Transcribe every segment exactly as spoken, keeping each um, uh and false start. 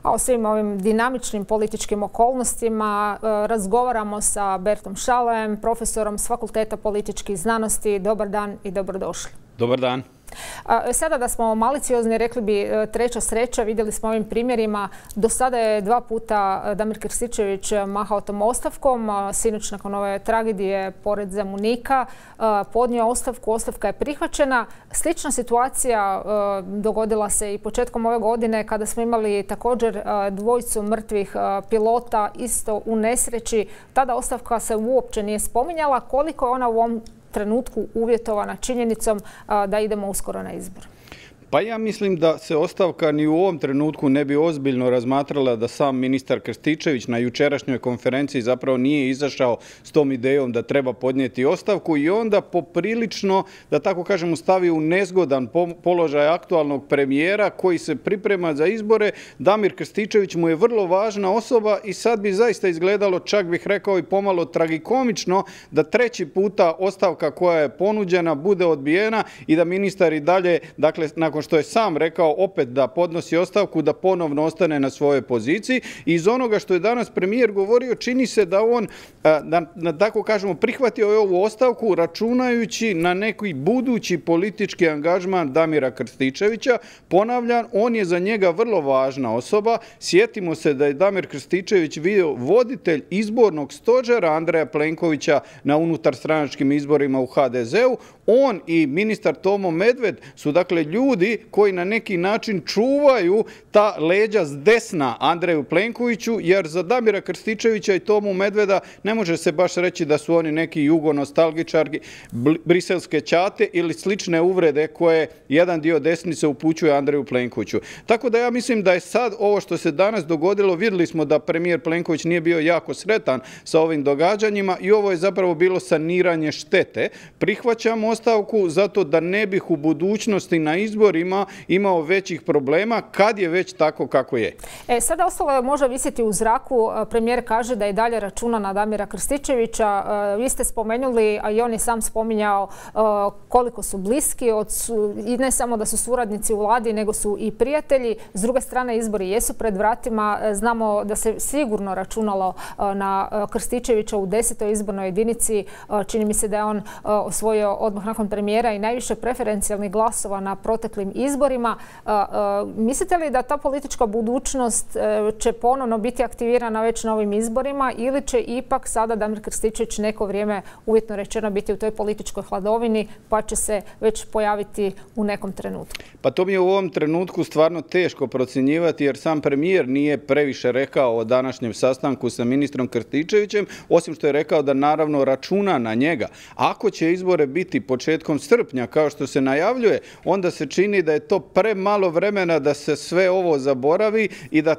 A o svim ovim dinamičnim političkim okolnostima razgovaramo sa Bertom Šalem, profesorom s Fakulteta političkih znanosti. Dobar dan i dobrodošli. Dobar dan. Sada da smo maliciozni, rekli bi treća sreća. Vidjeli smo ovim primjerima. Do sada je dva puta Damir Krstičević mahao tom ostavkom. Sinoć nakon ove tragedije pored Zemunika podnio ostavku. Ostavka je prihvaćena. Slična situacija dogodila se i početkom ove godine kada smo imali također dvojicu mrtvih pilota isto u nesreći. Tada ostavka se uopće nije spominjala. Koliko je ona u ovom trenutku uvjetovana činjenicom da idemo uskoro na izbor? Pa ja mislim da se ostavka ni u ovom trenutku ne bi ozbiljno razmatrala da sam ministar Krstičević na jučerašnjoj konferenciji zapravo nije izašao s tom idejom da treba podnijeti ostavku i onda poprilično, da tako kažemo, stavi u nezgodan položaj aktualnog premijera koji se priprema za izbore. Damir Krstičević mu je vrlo važna osoba i sad bi zaista izgledalo, čak bih rekao i pomalo tragikomično, da treći puta ostavka koja je ponuđena bude odbijena i da ministar i dalje, dakle, nakon što je sam rekao opet da podnosi ostavku, da ponovno ostane na svojoj poziciji. I iz onoga što je danas premijer govorio, čini se da on, da, da tako kažemo, prihvatio je ovu ostavku računajući na neki budući politički angažman Damira Krstičevića. Ponavljam, on je za njega vrlo važna osoba. Sjetimo se da je Damir Krstičević bio voditelj izbornog stožera Andreja Plenkovića na unutarstranačkim izborima u ha de zeu. On i ministar Tomo Medved su dakle ljudi koji na neki način čuvaju ta leđa s desna Andreju Plenkoviću, jer za Damira Krstičevića i Tomu Medveda ne može se baš reći da su oni neki jugonostalgičari, briselske ćate ili slične uvrede koje jedan dio desnice upućuje Andreju Plenkoviću. Tako da ja mislim da je sad ovo što se danas dogodilo, vidjeli smo da premijer Plenković nije bio jako sretan sa ovim događanjima i ovo je zapravo bilo saniranje štete. Prihvaćamo ostavku zato da ne bih u budućnosti na izborima imao većih problema kad je već tako kako je. E, sada ostalo je može visiti u zraku. Premijer kaže da i dalje računa na Damira Krstičevića. E, vi ste spomenuli, a i on je sam spominjao e, koliko su bliski od, i ne samo da su suradnici u vladi, nego su i prijatelji. S druge strane, izbori jesu pred vratima. E, znamo da se sigurno računalo e, na Krstičevića u desetoj izbornoj jedinici. E, čini mi se da je on e, osvojio odmah nakon premijera i najviše preferencijalnih glasova na proteklim izborima. Mislite li da ta politička budućnost će ponovno biti aktivirana već na ovim izborima ili će ipak sada Damir Krstičević neko vrijeme, uvjetno rečeno, biti u toj političkoj hladovini pa će se već pojaviti u nekom trenutku? Pa to mi je u ovom trenutku stvarno teško procjenjivati jer sam premijer nije previše rekao o današnjem sastanku sa ministrom Krstičevićem, osim što je rekao da naravno računa na njega. Ako će izbore biti početkom srpnja kao što se najavljuje, onda se čini da je to premalo vremena da se sve ovo zaboravi i da,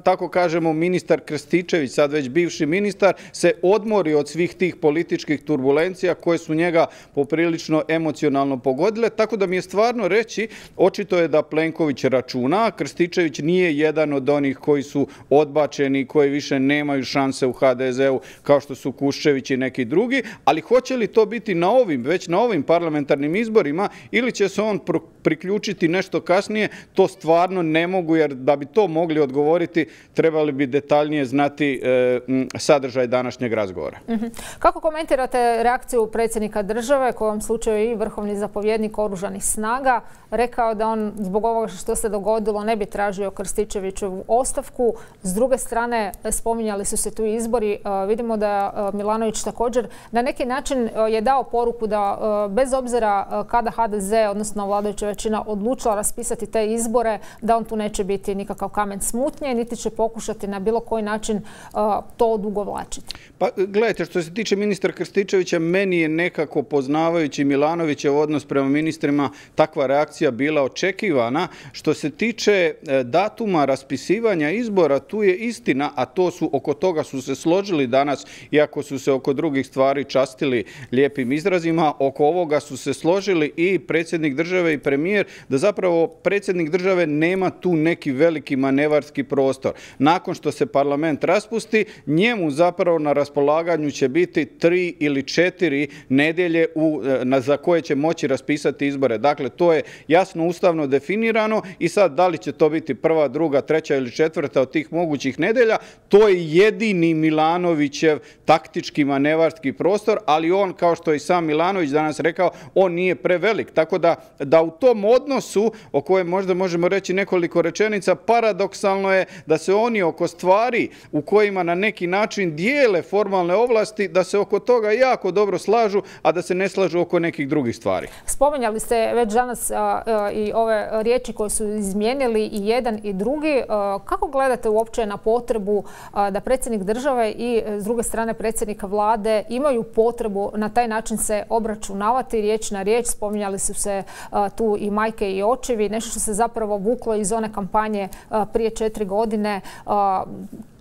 tako kažemo, ministar Krstičević, sad već bivši ministar, se odmori od svih tih političkih turbulencija koje su njega poprilično emocionalno pogodile. Tako da mi je stvarno reći, očito je da Plenković računa, Krstičević nije jedan od onih koji su odbačeni, koji više nemaju šanse u ha de zeu kao što su Kuščević i neki drugi, ali hoće li to biti na ovim, već na ovim parlamentarnim izborima ili će se on priključiti nešto kasnije, to stvarno ne mogu, jer da bi to mogli odgovoriti trebali bi detaljnije znati e, sadržaj današnjeg razgovora. Mm-hmm. Kako komentirate reakciju predsjednika države, koji u ovom slučaju i vrhovni zapovjednik oružanih snaga, rekao da on zbog ovoga što se dogodilo ne bi tražio Krstičevićevu ostavku. S druge strane, spominjali su se tu izbori. E, vidimo da Milanović također na neki način je dao poruku da e, bez obzira kada ha de ze, odnosno vladajuća većina, odlučila raspisati te izbore, da on tu neće biti nikakav kamen smutnje, niti će pokušati na bilo koji način uh, to odugovlačiti. Pa gledajte, što se tiče ministra Krstičevića, meni je nekako, poznavajući Milanovićev odnos prema ministrima, takva reakcija bila očekivana. Što se tiče datuma raspisivanja izbora, tu je istina, a to su, oko toga su se složili danas, iako su se oko drugih stvari častili lijepim izrazima, oko ovoga su se složili i predsjednik države i premijer, da zapravo predsjednik države nema tu neki veliki manevarski prostor. Nakon što se parlament raspusti, njemu zapravo na raspolaganju će biti tri ili četiri nedjelje u, na, za koje će moći raspisati izbore. Dakle, to je jasno ustavno definirano i sad da li će to biti prva, druga, treća ili četvrta od tih mogućih nedelja, to je jedini Milanovićev taktički manevarski prostor, ali on, kao što je i sam Milanović danas rekao, on nije prevelik. Tako da, da u tom odnosu, o kojem možda možemo reći nekoliko rečenica, paradoksalno je da se oni oko stvari u kojima na neki način dijele formalne ovlasti, da se oko toga jako dobro slažu, a da se ne slažu oko nekih drugih stvari. Spominjali ste već danas a, a, i ove riječi koje su izmijenili i jedan i drugi. A, kako gledate uopće na potrebu a, da predsjednik države i s druge strane predsjednika vlade imaju potrebu na taj način se obračunavati riječ na riječ? Spominjali su se a, tu i majke i očevi, nešto što se zapravo vuklo iz one kampanje a, prije četiri godine. A,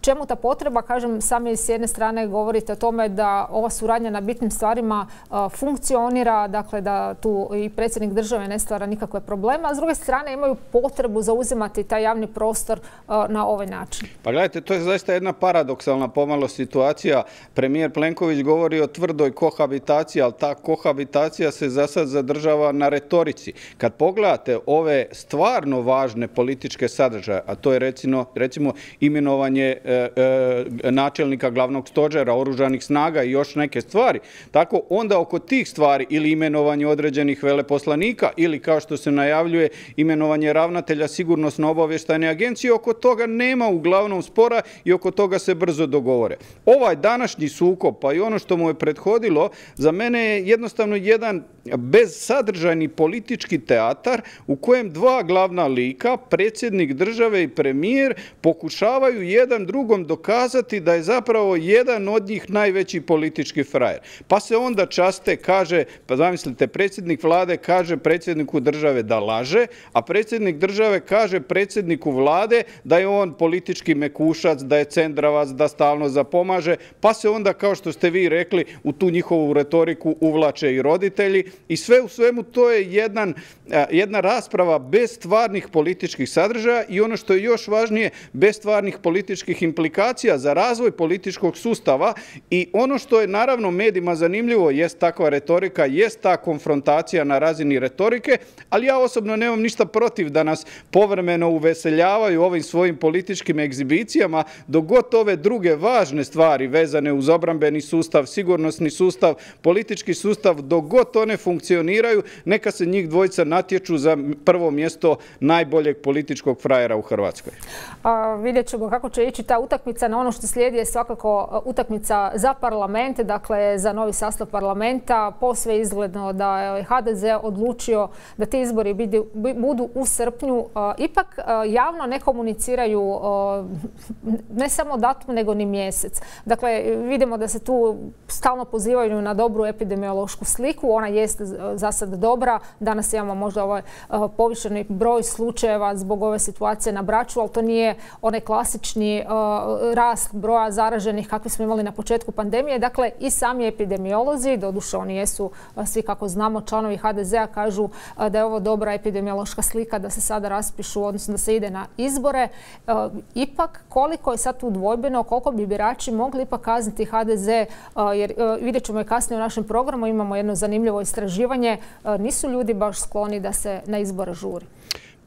Čemu ta potreba? Kažem, sami s jedne strane govorite o tome da ova suradnja na bitnim stvarima uh, funkcionira, dakle da tu i predsjednik države ne stvara nikakve probleme, a s druge strane imaju potrebu zauzimati taj javni prostor uh, na ovaj način. Pa gledajte, to je zaista jedna paradoksalna pomalo situacija. Premijer Plenković govori o tvrdoj kohabitaciji, ali ta kohabitacija se za sad zadržava na retorici. Kad pogledate ove stvarno važne političke sadržaje, a to je recimo, recimo imenovanje načelnika glavnog stožera oružanih snaga i još neke stvari. Tako onda oko tih stvari ili imenovanje određenih veleposlanika ili kao što se najavljuje imenovanje ravnatelja sigurnosno-obavještajne agencije, oko toga nema uglavnom spora i oko toga se brzo dogovore. Ovaj današnji sukob, pa i ono što mu je prethodilo, za mene je jednostavno jedan bezsadržajni politički teatar u kojem dva glavna lika, predsjednik države i premijer, pokušavaju jedan drugom dokazati da je zapravo jedan od njih najveći politički frajer. Pa se onda časte, kaže, pa zamislite, predsjednik vlade kaže predsjedniku države da laže, a predsjednik države kaže predsjedniku vlade da je on politički mekušac, da je cendravac, da stalno zapomaže, pa se onda, kao što ste vi rekli, u tu njihovu retoriku uvlače i roditelji i sve u svemu to je jedan, jedna rasprava bez stvarnih političkih sadržaja i ono što je još važnije, bez stvarnih političkih implikacija za razvoj političkog sustava. I ono što je naravno medijima zanimljivo jest takva retorika, jest ta konfrontacija na razini retorike, ali ja osobno nemam ništa protiv da nas povremeno uveseljavaju ovim svojim političkim egzibicijama, dok god ove druge važne stvari vezane uz obrambeni sustav, sigurnosni sustav, politički sustav, dok god one funkcioniraju, neka se njih dvojica natječu za prvo mjesto najboljeg političkog frajera u Hrvatskoj. A, vidjet ćemo kako će ići ta utakmica. Na ono što slijedi je svakako utakmica za parlament, dakle za novi sastav parlamenta. Posve izgledno da je ha de ze odlučio da ti izbori budu u srpnju. Ipak javno ne komuniciraju ne samo datum nego ni mjesec. Dakle, vidimo da se tu stalno pozivaju na dobru epidemiološku sliku. Ona jest za sad dobra. Danas imamo možda ovaj povišeni broj slučajeva zbog ove situacije na Braču, ali to nije onaj klasični rast broja zaraženih kakvi smo imali na početku pandemije. Dakle, i sami epidemiolozi, doduše oni jesu svi, kako znamo, članovi ha de zea, kažu da je ovo dobra epidemiološka slika da se sada raspišu, odnosno da se ide na izbore. Ipak, koliko je sad tu dvojbeno, koliko bi birači mogli ipak kazniti ha de ze, jer vidjet ćemo i kasnije u našem programu, imamo jedno zanimljivo istraživanje, nisu ljudi baš skloni da se na izbore žuri.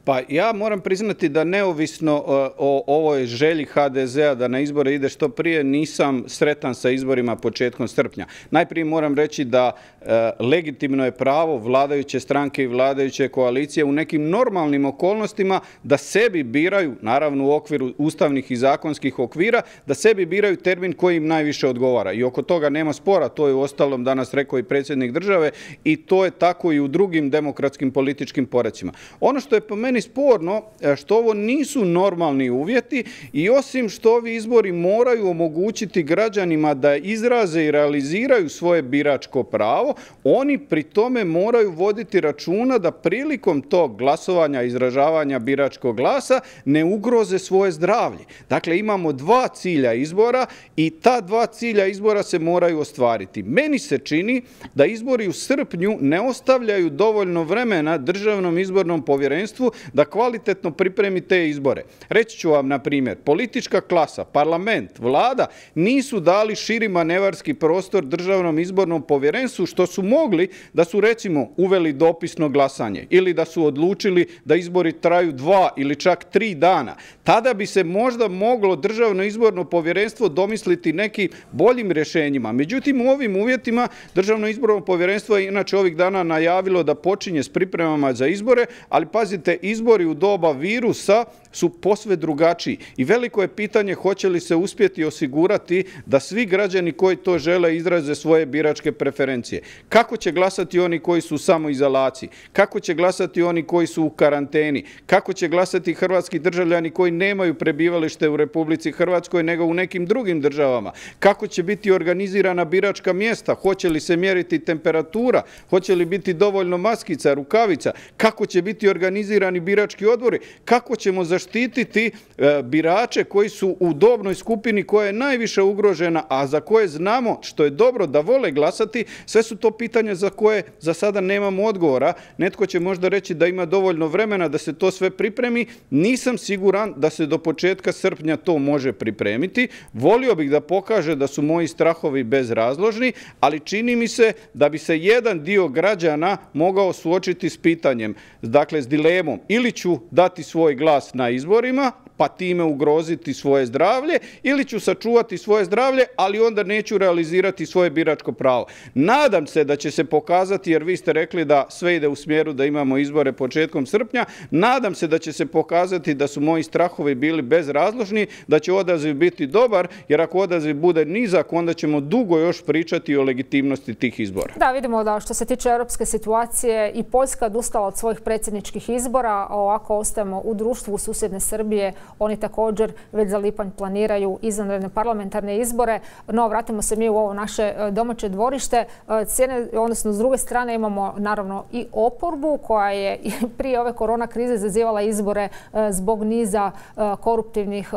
Pa ja moram priznati da neovisno o ovoj želji ha de zea da na izbore ide što prije, nisam sretan sa izborima početkom srpnja. Najprije moram reći da e, legitimno je pravo vladajuće stranke i vladajuće koalicije u nekim normalnim okolnostima da sebi biraju, naravno u okviru ustavnih i zakonskih okvira, da sebi biraju termin koji im najviše odgovara. I oko toga nema spora, to je uostalom danas rekao i predsjednik države i to je tako i u drugim demokratskim političkim porecima. Ono što je po meni sporno, što ovo nisu normalni uvjeti i osim što ovi izbori moraju omogućiti građanima da izraze i realiziraju svoje biračko pravo, oni pri tome moraju voditi računa da prilikom tog glasovanja, izražavanja biračkog glasa ne ugroze svoje zdravlje. Dakle, imamo dva cilja izbora i ta dva cilja izbora se moraju ostvariti. Meni se čini da izbori u srpnju ne ostavljaju dovoljno vremena Državnom izbornom povjerenstvu da kvalitetno pripremi te izbore. Reći ću vam, na primjer, politička klasa, parlament, vlada nisu dali širi manevarski prostor Državnom izbornom povjerenstvu, što su mogli da su, recimo, uveli dopisno glasanje ili da su odlučili da izbori traju dva ili čak tri dana. Tada bi se možda moglo Državno izborno povjerenstvo domisliti nekim boljim rješenjima. Međutim, u ovim uvjetima Državno izborno povjerenstvo je inače ovih dana najavilo da počinje s pripremama za izbore, ali pazite, izbori u doba virusa su posve drugačiji i veliko je pitanje hoće li se uspjeti osigurati da svi građani koji to žele izraze svoje biračke preferencije. Kako će glasati oni koji su u samoizolaciji? Kako će glasati oni koji su u karanteni? Kako će glasati hrvatski državljani koji nemaju prebivalište u Republici Hrvatskoj nego u nekim drugim državama? Kako će biti organizirana biračka mjesta? Hoće li se mjeriti temperatura? Hoće li biti dovoljno maskica, rukavica? Kako će biti organizirani birački odbori? Kako ćemo zaštititi e, birače koji su u dobnoj skupini koja je najviše ugrožena, a za koje znamo, što je dobro, da vole glasati? Sve su to pitanja za koje za sada nemamo odgovora. Netko će možda reći da ima dovoljno vremena da se to sve pripremi. Nisam siguran da se do početka srpnja to može pripremiti. Volio bih da pokaže da su moji strahovi bezrazložni, ali čini mi se da bi se jedan dio građana mogao suočiti s pitanjem, dakle s dilemom, ili ću dati svoj glas na izborima, pa time ugroziti svoje zdravlje, ili ću sačuvati svoje zdravlje, ali onda neću realizirati svoje biračko pravo. Nadam se da će se pokazati, jer vi ste rekli da sve ide u smjeru da imamo izbore početkom srpnja, nadam se da će se pokazati da su moji strahovi bili bezrazložni, da će odaziv biti dobar, jer ako odaziv bude nizak, onda ćemo dugo još pričati o legitimnosti tih izbora. Da, vidimo da što se tiče europske situacije i Poljska odustala od svojih predsjedničkih izbora, a ovako ostajemo u društvu susjedne Srbije. Oni također već za lipanj planiraju izvanredne parlamentarne izbore. No, vratimo se mi u ovo naše domaće dvorište. Cijene, odnosno s druge strane imamo naravno i oporbu koja je prije ove korona krize zazivala izbore zbog niza koruptivnih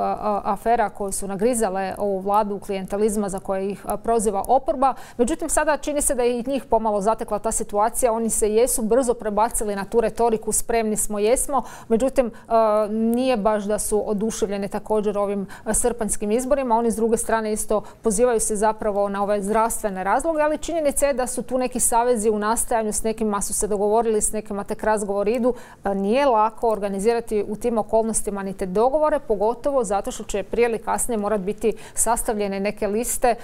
afera koje su nagrizale ovu vladu klijentalizma za koje ih proziva oporba. Međutim, sada čini se da je i njih pomalo zatekla ta situacija. Oni se jesu brzo prebacili na tu retoriku spremni smo, jesmo. Međutim, nije baš da su oduševljeni također ovim srpanjskim izborima. Oni s druge strane isto pozivaju se zapravo na ove zdravstvene razloge, ali činjenica je da su tu neki savezi u nastajanju, s nekima su se dogovorili, s nekima tek razgovor idu. Nije lako organizirati u tim okolnostima ni te dogovore, pogotovo zato što će prije ili kasnije morati biti sastavljene neke liste.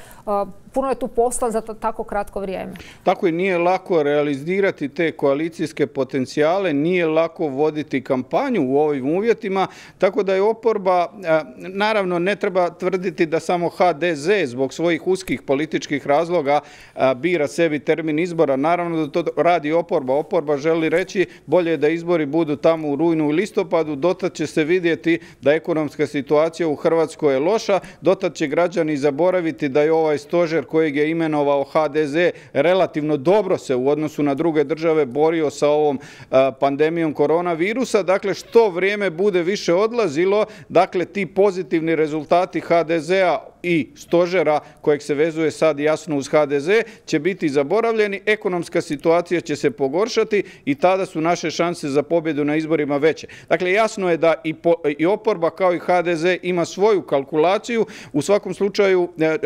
Puno je tu posla za tako kratko vrijeme. Tako i nije lako realizirati te koalicijske potencijale, nije lako voditi kampanju u ovim uvjetima, tako da je oporba, naravno ne treba tvrditi da samo ha de ze zbog svojih uskih političkih razloga bira sebi termin izbora. Naravno da to radi oporba. Oporba želi reći bolje da izbori budu tamo u rujnu i listopadu, dotad će se vidjeti da ekonomska situacija u Hrvatskoj je loša, dotad će građani zaboraviti da je ovaj stožer kojeg je imenovao ha de ze relativno dobro se u odnosu na druge države borio sa ovom pandemijom koronavirusa. Dakle, što vrijeme bude više odlazilo, dakle, ti pozitivni rezultati ha de zea i stožera kojeg se vezuje sad jasno uz ha de ze će biti zaboravljeni, ekonomska situacija će se pogoršati i tada su naše šanse za pobjedu na izborima veće. Dakle, jasno je da i, po, i oporba kao i ha de ze ima svoju kalkulaciju. U svakom slučaju e, e,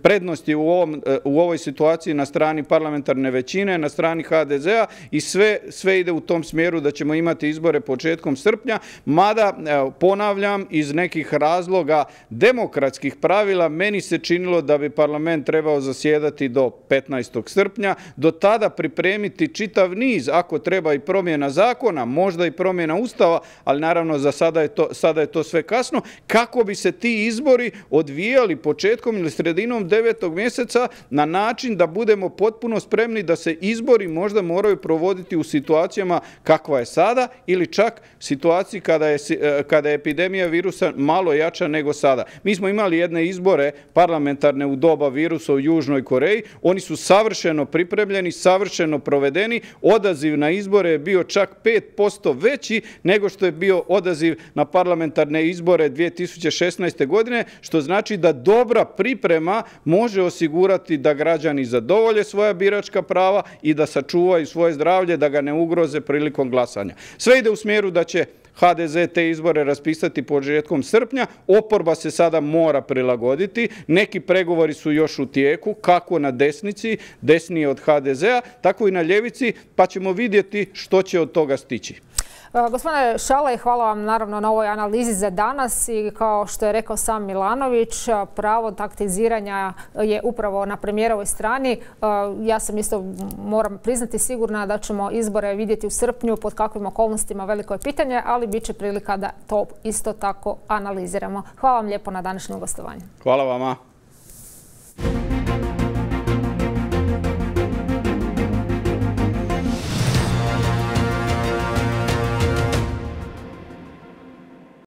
prednost je u, ovom, e, u ovoj situaciji na strani parlamentarne većine, na strani ha de zea i sve, sve ide u tom smjeru da ćemo imati izbore početkom srpnja, mada e, ponavljam, iz nekih razloga demokratskih pravila meni se činilo da bi parlament trebao zasjedati do petnaestog srpnja, do tada pripremiti čitav niz, ako treba i promjena zakona, možda i promjena ustava, ali naravno za sada je to, sada je to sve kasno, kako bi se ti izbori odvijali početkom ili sredinom devetog mjeseca na način da budemo potpuno spremni da se izbori možda moraju provoditi u situacijama kakva je sada ili čak situaciji kada je, kada je epidemija virusa malo jača nego sada. Mi smo imali jedan jedne izbore parlamentarne u doba virusa u Južnoj Koreji. Oni su savršeno pripremljeni, savršeno provedeni. Odaziv na izbore je bio čak pet posto veći nego što je bio odaziv na parlamentarne izbore dvije tisuće šesnaeste. godine, što znači da dobra priprema može osigurati da građani zadovolje svoja biračka prava i da sačuvaju svoje zdravlje, da ga ne ugroze prilikom glasanja. Sve ide u smjeru da će ha de ze te izbore raspisati početkom srpnja. Oporba se sada mora prilagoditi. Neki pregovori su još u tijeku, kako na desnici, desnije od ha de zea, tako i na ljevici, pa ćemo vidjeti što će od toga stići. Gospodine Šalaj, hvala vam naravno na ovoj analizi za danas i kao što je rekao sam Milanović, pravo taktiziranja je upravo na premijerovoj strani. Ja sam isto, moram priznati, sigurna da ćemo izbore vidjeti u srpnju, pod kakvim okolnostima veliko je pitanje, ali bit će prilika da to isto tako analiziramo. Hvala vam lijepo na današnjem gostovanju. Hvala vama.